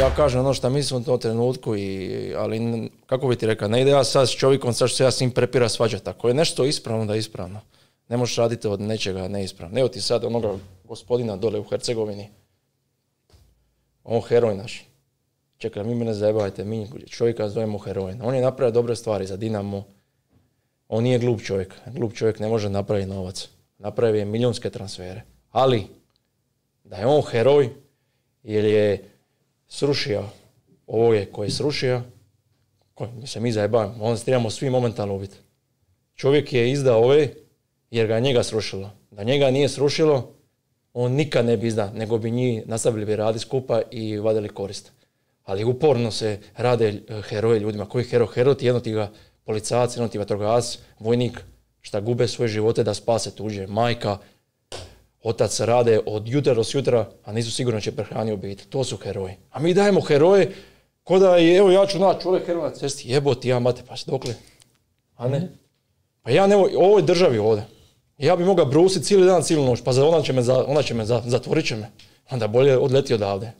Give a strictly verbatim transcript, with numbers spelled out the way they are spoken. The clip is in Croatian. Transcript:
Ja kažem ono što mislim u tom trenutku, i, ali kako bi ti rekao, ne ide ja sad s čovjekom, sad što se ja s njim prepira svađati. Ako je nešto ispravno, da je ispravno. Ne možeš raditi od nečega neispravno. Evo ti sad onoga gospodina dole u Hercegovini. On heroj naš. Čekaj, mi mene zajebajte, mi čovjeka zovemo heroj. On je napravio dobre stvari za Dinamo. On nije glup čovjek. Glup čovjek ne može napraviti novac. Napravio je milijunske transfere. Ali, da je on heroj, jer je srušio ovoje koje je srušio, koje se mi zajebavamo, onda se trebamo svi momentalno ubiti. Čovjek je izdao ove, jer ga njega srušilo. Da njega nije srušilo, on nikad ne bi izdao, nego bi njih nastavili bi raditi skupa i vadili korist. Ali uporno se rade heroje ljudima. Koji hero? Hero ti jedno ti ga policajac, jedno ti vatrogasac, vojnik, šta gube svoje živote da spase tuđe. Majka, otac rade od jutra do sutra, a nisu sigurno će prehraniti obitelj. To su heroji. A mi dajemo heroje, ko da je, evo ja ću naći čovjek heroj na cesti, jeboti ja mate, pa dokle? A ne? Pa ja ne, u ovoj državi ovdje. Ja bi mogao brusiti cijeli dan, cijelu noć, pa ona će me, za, ona će me za, zatvorit će me. Onda bolje odleti odavde.